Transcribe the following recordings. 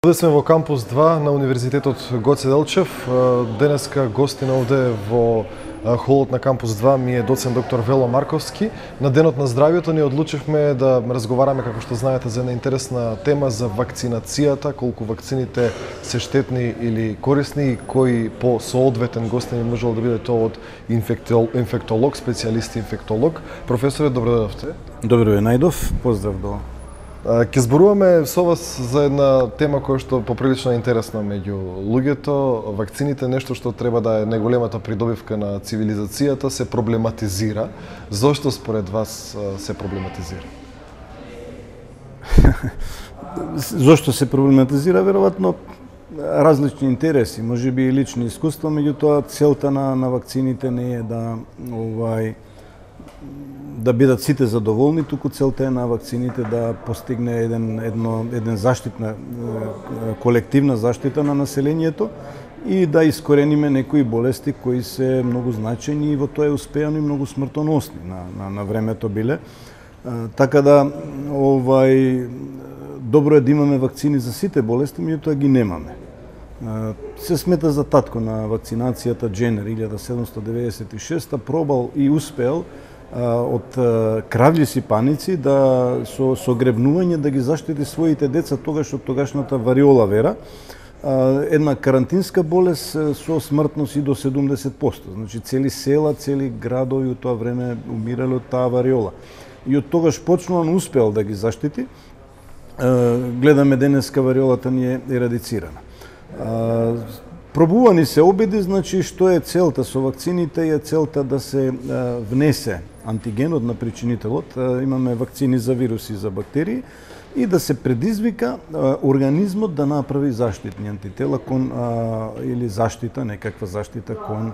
Овде сме во кампус 2 на Универзитетот Гоце Делчев. Денеска гостин овде во холот на кампус 2 ми е доцент доктор Вело Марковски. На денот на здравието ни одлучивме да разговараме, како што знаете, за една интересна тема за вакцинацијата, колку вакцините се штетни или корисни и кој по соодветен гостин можел да биде тоа од инфектолог, специјалист инфектолог. Професоре, добро дојдовте. Добро ве најдов, поздрав до. Ке зборуваме со вас за една тема која што поприлично интересна меѓу луѓето. Вакцините, нешто што треба да е најголемата придобивка на цивилизацијата, се проблематизира. Зошто според вас се проблематизира? Зошто се проблематизира? Веројатно различни интереси, можеби и лични искуства, меѓутоа целта на вакцините не е да бидат сите задоволни, туку целта е на вакцините да постигне еден заштитна, колективна заштита на населението и да искорениме некои болести кои се многу значајни и во тоа е успеано и многу смртоносни на времето биле. Така да добро е да имаме вакцини за сите болести, меѓутоа ги немаме. Се смета за татко на вакцинацијата Дженер 1796 пробал и успеал од крављи сипаници да со гребнување да ги заштити своите деца тогаш од тогашната вариола вера, една карантинска болест со смртност и до 70%. Значи цели села, цели градови од тоа време умирале од таа вариола. И од тогаш почнуван успеал да ги заштити. Гледаме денеска вариолата ни е ерадицирана. Пробувани се обиди, значи што е целта со вакцините, е целта да се внесе антигенот на причинителот, имаме вакцини за вируси и за бактерии, и да се предизвика организмот да направи заштитни антитела кон или заштита, некаква заштита кон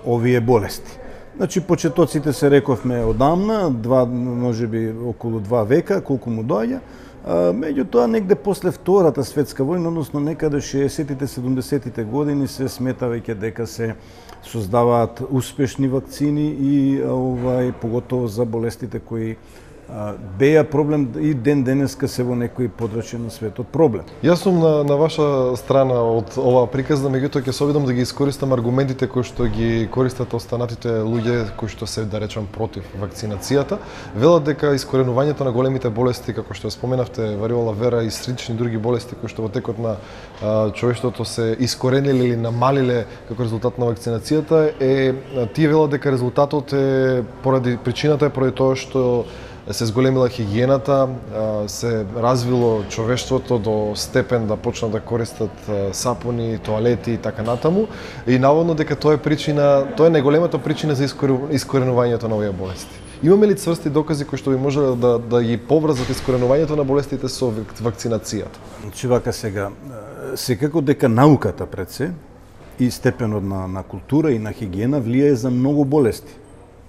овие болести. Значи почетоците се рековме одамна, можеби околу 2 века, колку му доаѓа. Меѓутоа, негде после Втората светска војна, односно некаде 60-тите, 70-тите години се смета веќе дека се создаваат успешни вакцини и поготово за болестите кои беа проблем и денеска се во некои подрачја на светот проблем. Јас сум на ваша страна од оваа приказна, меѓутоа ќе се обидам да ги искористам аргументите кои што ги користат останатите луѓе кои што се, да речам, против вакцинацијата. Велат дека искоренувањето на големите болести, како што споменавте, вариола вера и слични други болести кои што во текот на човештвото се искорениле или намалиле како резултат на вакцинацијата, тие велат дека резултатот е причината е поради тоа што се зголемила хигиената, се развило човештвото до степен да почнат да користат сапуни, тоалети и така натаму, и наводно дека тоа е најголемата причина за искоренувањето на овие болести. Имаме ли цврсти докази кои што би можеле да ги поврзат искоренувањето на болестите со вакцинацијата? Значи вака сега, секако дека науката пред се и степенот на култура и на хигиена влијае за многу болести.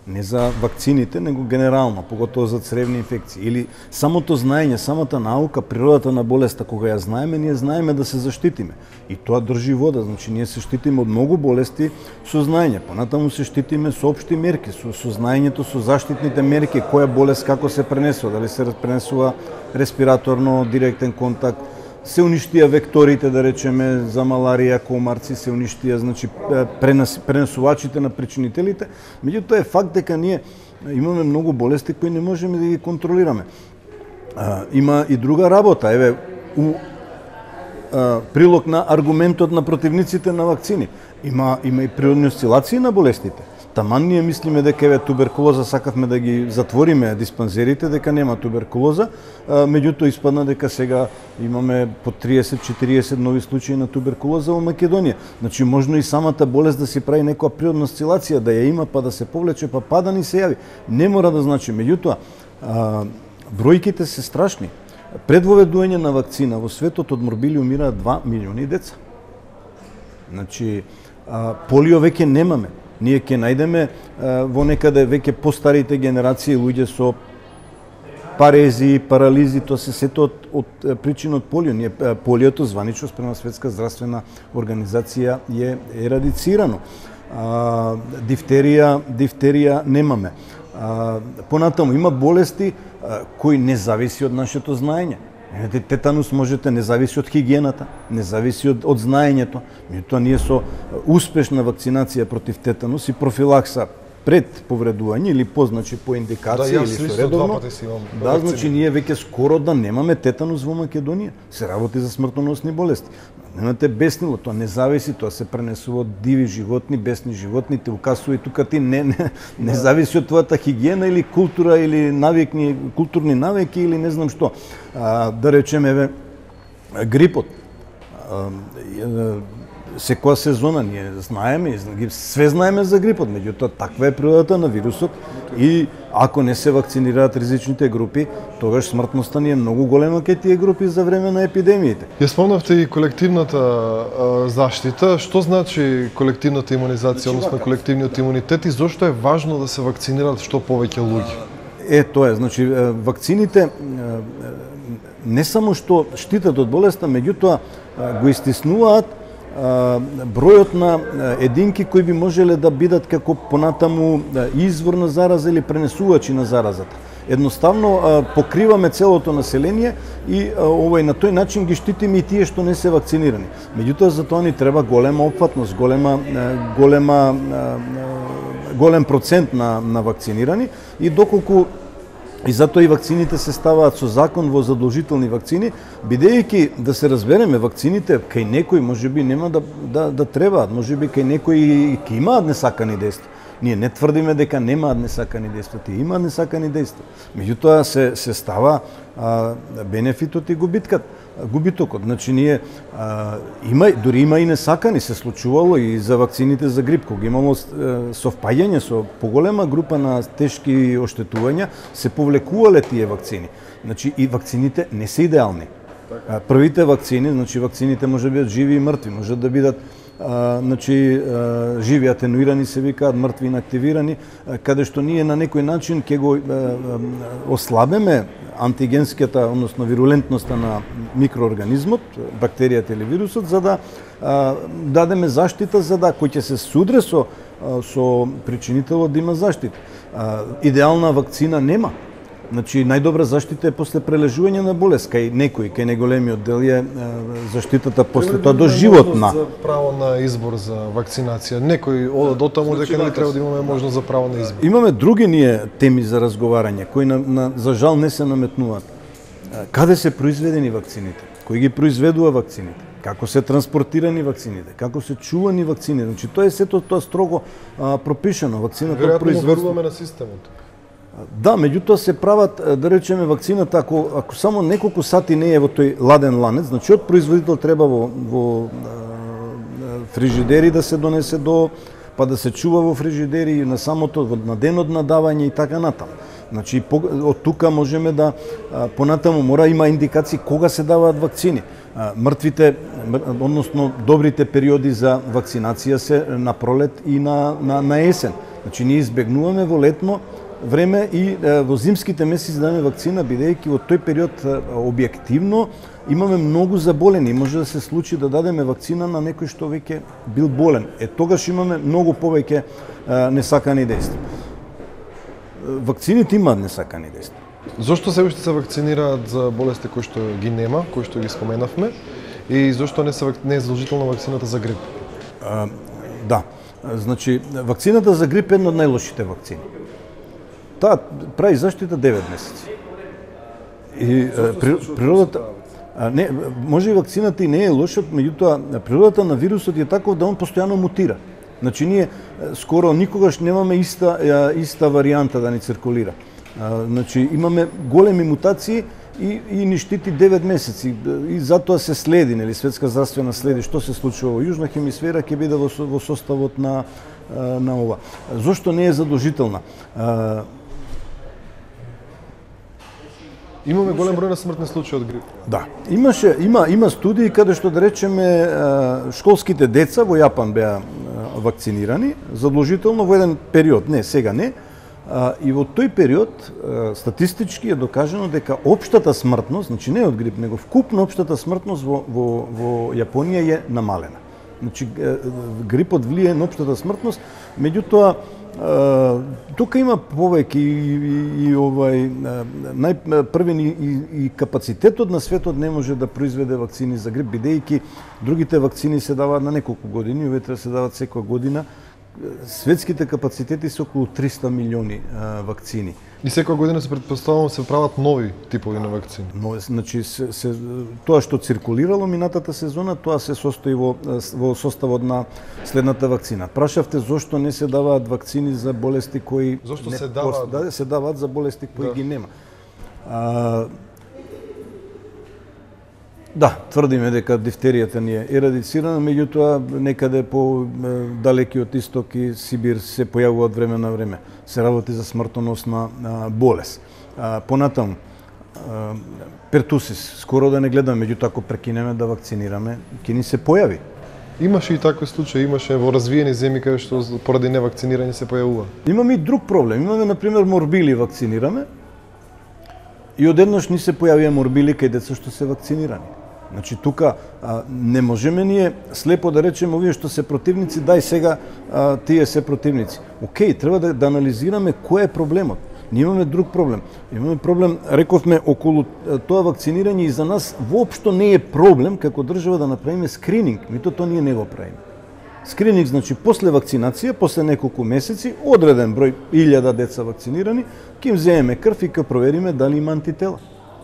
Не за вакцините, него генерално, поготово за цревни инфекции. Или самото знаење, самата наука, природата на болеста, кога ја знаеме, ние знаеме да се заштитиме. И тоа држи вода, значи ние се штитиме од многу болести со знаење. Понатаму се штитиме со општи мерки, со знаењето, со заштитните мерки, која болест како се пренесува, дали се пренесува респираторно, директен контакт, се уништија векторите, да речеме, за маларија, комарци, се уништија, значи, пренесувачите на причинителите. Меѓутоа е факт дека ние имаме многу болести кои не можеме да ги контролираме. Има и друга работа, у прилог на аргументот на противниците на вакцини. Има и природни осцилации на болестите. Таман ние мислиме дека туберкулоза, сакавме да ги затвориме диспансерите, дека нема туберкулоза, меѓутоа испадна дека сега имаме по 30-40 нови случаи на туберкулоза во Македонија. Значи можно и самата болест да си прави некоја природна осцилација, да ја има, па да се повлече, па да ни се јави. Не мора да значи, меѓутоа бројките се страшни. Пред воведување на вакцина во светот од морбили умираат 2 милиони деца. Значи полио веќе немаме. Ние ќе најдеме во некаде веќе постарите генерации луѓе со парези, парализи, тоа се сето од причина од полио. Полиото званично спрема Светска здравствена организација е ерадицирано. Дифтерија немаме. Понатаму има болести кои не зависи од нашето знаење. Тетанус можете, не зависи од хигиената, не зависи од знаењето. Меѓутоа ние со успешна вакцинација против тетанус и профилакса пред повредување или позначи по индикација или со редовно. Да, значи ние веќе скоро да немаме тетанус во Македонија. Се работи за смртоносни болести. Немате беснило, тоа не зависи, тоа се пренесува од диви животни, бесни животни, те укасува и тука ти не зависи од твојата хигиена или култура или навикни, културни навики или не знам што. Да речеме грипот. Секоја сезона ние знаеме, све знаеме за грипот, меѓутоа таква е природата на вирусот и ако не се вакцинираат ризичните групи, тогаш смртноста ни е многу голема кај тие групи за време на епидемиите. Ја спомнавте и колективната заштита. Што значи колективната имунизација, односно колективниот имунитет и зошто е важно да се вакцинираат што повеќе луѓе? Тоа е, значи вакцините не само што штитат од болеста, меѓутоа го истиснуваат бројот на единки кои би можеле да бидат како понатаму извор на зараза или пренесувачи на заразата. Едноставно покриваме целото население и на тој начин ги штитиме и тие што не се вакцинирани. Меѓутоа за тоа ни треба голема опфатност, голем процент на вакцинирани и доколку и затоа и вакцините се ставаат со закон во задолжителни вакцини, бидејќи да се разбереме, вакцините кај некои можеби нема да требаат, можеби кај некои ќе имаат несакани дејства. Ние не тврдиме дека немаат несакани дејства, тие имаат несакани дејства. Меѓутоа се става бенефитот и губитокот. Значи ние дури има и несакани, се случувало и за вакцините за грип, кога имало совпаѓање со поголема група на тешки оштетувања, се повлекувале тие вакцини. Значи и вакцините не се идеални. Првите вакцини, значи вакцините може да бидат живи и мртви, може да бидат живи атенуирани се викаат, мртви инактивирани, каде што ние на некој начин ќе го ослабеме антигенската, односно вирулентноста на микроорганизмот, бактеријата или вирусот, за да дадеме заштита за да кој ќе се судре со причинителот да има заштита. Идеална вакцина нема. Значи, најдобра заштита е после прележување на болест. Кај некој, кај неголемиот дел е заштитата после тоа до животна. За право на избор за вакцинација. Некој ода до таму дека не треба да имаме можност за право на избор. Имаме други ние теми за разговарање, кои за жал не се наметнуваат. Каде се произведени вакцините? Кој ги произведува вакцините? Како се транспортирани вакцините? Како се чувани вакцините? Значи, тоа е сето тоа строго пропишано. Вакцината произведува на системот. Да, меѓутоа се прават, да речеме, вакцината, ако само неколку сати не е во тој ладен ланец, значи од производител треба во фрижидери да се донесе па да се чува во фрижидери на самото, на денот на давање и така натаму. Значи, од тука можеме да, понатаму мора има индикации кога се даваат вакцини. Мртвите, односно добрите периоди за вакцинација се на пролет и на есен. Значи, ние избегнуваме во летно време и во зимските месеци да дадеме вакцина, бидејќи во тој период објективно имаме многу заболени. Може да се случи да дадеме вакцина на некој што веќе бил болен. Тогаш имаме многу повеќе несакани дејства. Вакцините имаат несакани дејства. Зошто се уште се вакцинираат за болести кои што ги нема, кои што ги споменавме, и зошто не е задолжителна вакцината за грип? Да, значи вакцината за грип е една од најлошите вакцини. Таа прави заштита 9 месеци. И природата не може и вакцината и не е лоша, меѓутоа природата на вирусот е таков да он постојано мутира. Значи ние скоро никогаш немаме иста варијанта да ни циркулира. Значи имаме големи мутации и ни штити 9 месеци и затоа се следи, нели, Светска здравствена следи што се случува во јужна хемисфера, ќе биде во составот на ова. Зошто не е задолжителна? Имаме голем број на смртни случаи од грип. Да. Има студии каде што, да речеме, школските деца во Јапан беа вакцинирани задолжително во еден период, не, сега не. И во тој период статистички е докажано дека општата смртност, значи не од грип, него вкупно општата смртност во Јапонија е намалена. Значи грипот влие на општата смртност, меѓутоа тука има повеќе и најпрвен и капацитетот на светот не може да произведе вакцини за грип, бидејќи другите вакцини се даваат на неколку години, овие треба се даваат секоја година. Светските капацитети се околу 300 милиони вакцини. И секоја година се претпоставувам се прават нови типови на вакцини. Но значи тоа што циркулирало минатата сезона, тоа се состои во составот на следната вакцина. Прашавте зошто не се даваат вакцини за болести кои зошто се даваат? Се даваат за болести кои ги нема. Да, тврдиме дека дифтеријата ни е ерадицирана, меѓутоа некаде по далеки од Исток и Сибир се појавуваат време на време. Се работи за смртоносна болест. Понатаму, пертусис, скоро да не гледаме, меѓутоа ако прекинеме да вакцинираме, ќе ни се појави. Имаше и такви случаи, имаше во развиени земји каде што поради невакцинирање се појавува. Имаме и друг проблем. Имаме, например, морбили вакцинираме и одеднаш ни се појавија морбили кај деца што се вакцинирани. Значи, тука не можеме ние слепо да речеме овие што се противници, дај сега тие се противници. Океј, треба да анализираме кој е проблемот. Ние имаме друг проблем. Имаме проблем, рековме, околу тоа вакцинирање и за нас воопшто не е проблем како држава да направиме скрининг. Мито тоа ние не го правиме. Скрининг значи после вакцинација, после неколку месеци, одреден број 1000 деца вакцинирани, ќе им земеме крв и ќе провериме дали има антитела.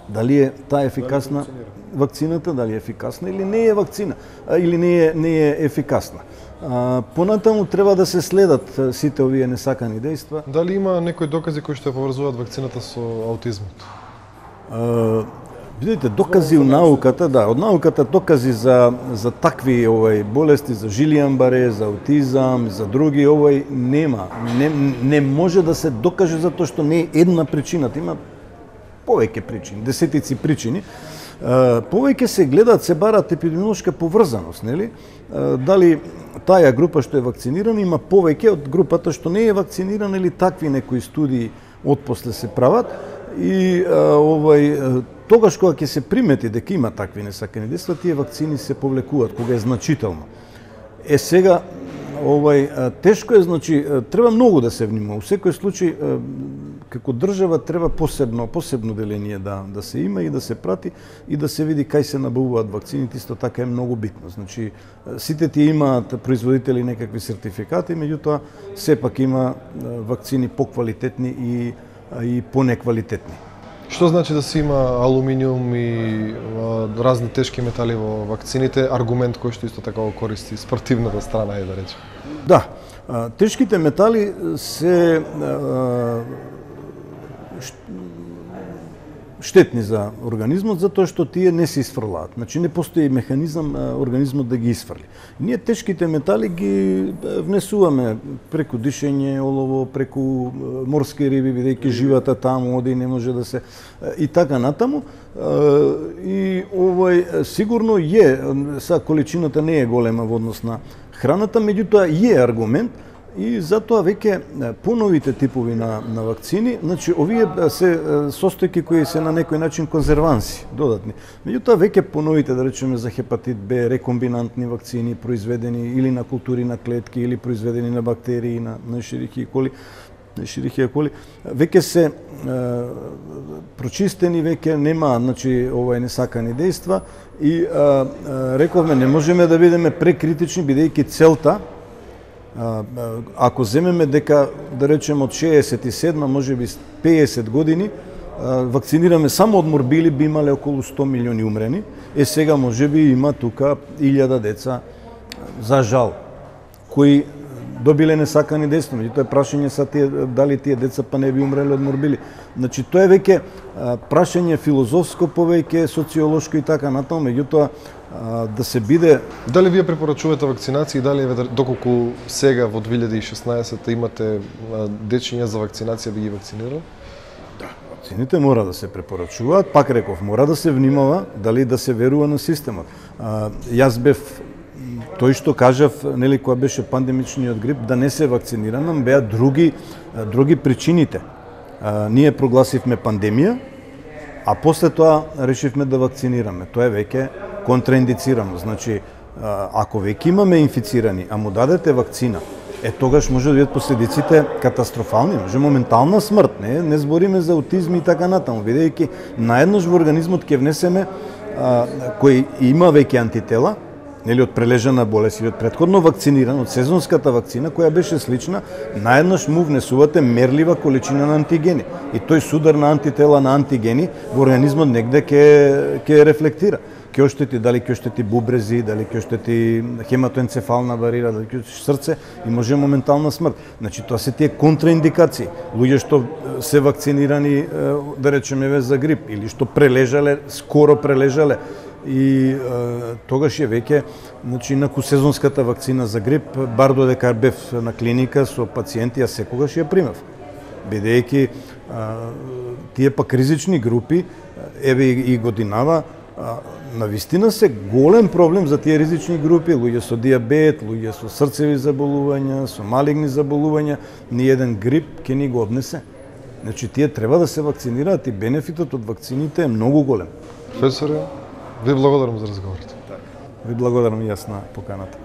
Дали е таа ефикасна вакцината, дали е ефикасна или не е вакцина, или не е ефикасна. Понатаму треба да се следат сите овие несакани дејства. Дали има некои докази кои што ја поврзуваат вакцината со аутизмот? Видите, докази у науката, да, од науката докази за такви болести, за Жилијан-Баре, за аутизам, за други, нема. Не може да се докаже затоа што не е една причината, има повеќе причини, десетици причини. Повеќе се гледаат, се бараат епидемиолошка поврзаност, нели? Дали таа група што е вакцинирана има повеќе од групата што не е вакцинирана или такви некои студии отпосле се прават и тогаш кога ќе се примети дека има такви несакани дејства, тие вакцини се повлекуваат кога е значително. Сега тешко е, значи, треба многу да се внимава. Во секој случај, како држава, треба посебно деление да се има и да се прати и да се види кај се набавуваат вакцините, исто така е многу битно. Значи, сите тие имаат производители некакви сертификати, меѓутоа, сепак има вакцини поквалитетни и понеквалитетни. Што значи да се има алуминиум и разни тешки метали во вакцините, аргумент кој што исто така го користи спортивната страна е да речем? Да, тешките метали се штетни за организмот затоа што тие не се исфрлаат. Значи не постои механизам организмот да ги исфрли. Ние тешките метали ги внесуваме преку дишење, олово, преку морски риби, бидејќи живата таму оди не може да се и така натаму. И сигурно са количината не е голема во однос на храната, меѓутоа е аргумент. И затоа веќе поновите типови на вакцини, значи овие се состојки кои се на некој начин конзерванси, додатни. Меѓутоа веќе поновите, да речеме за хепатит Б, рекомбинантни вакцини произведени или на култури на клетки или произведени на бактерии, на Ешерихија коли, веќе се прочистени, веќе нема, значи несакани дејства и рековме не можеме да бидеме прекритични бидејќи целта ако земеме дека, да речем, од 67, може би 50 години, вакцинираме само од морбили, би имале околу 100 милиони умрени. Сега може би има тука 1000 деца, за жал, кои добиле несакани дејства. Меѓутоа прашање са дали тие деца па не би умреле од морбили. Значи тоа е веќе прашање филозофско, повеќе социолошко и така натаму, меѓутоа да се биде. Дали вие препорачувате вакцинација и дали доколку сега во 2016 имате дечиња за вакцинација би ги вакцинирал? Да, вакцините мора да се препорачуваат, пак реков, мора да се внимава дали да се верува на системот. Јас бев тој што кажав, нели, кога беше пандемичниот грип, да не се вакцинирам, беа други причините. Ние прогласивме пандемија, а после тоа решивме да вакцинираме. Тоа е веќе контраиндицирано. Значи, ако веќе имаме инфицирани, а му дадете вакцина, тогаш може да бидат последиците катастрофални, може моментална смрт, не збориме за аутизм и така натаму, бидејќи наеднаш во организмот ќе внесеме кој има веќе антитела, нели од прележана болест или од претходно вакциниран, од сезонската вакцина која беше слична, наеднаш му внесувате мерлива количина на антигени и тој судар на антитела на антигени во организмот негде ќе рефлектира. Ќе оштети, дали ќе оштети бубрези, дали ќе оштети хематоенцефална барира, дали ќе оштети срце и може моментална смрт. Значи тоа се тие контраиндикации. Луѓе што се вакцинирани, да речеме за грип или што прележале, скоро прележале и тогаш е веќе, значи инаку сезонската вакцина за грип, бар додека бев на клиника со пациенти, јас секогаш ја примав. Бидејќи тие пак ризични групи, еве и годинава, навистина се голем проблем за тие ризични групи, луѓе со диабет, луѓе со срцеви заболувања, со малигни заболувања, ни еден грип ќе ни го однесе. Значи тие треба да се вакцинираат и бенефитот од вакцините е многу голем. Професоре, ви благодарам за разговорот. Ви благодарам и јас на поканата.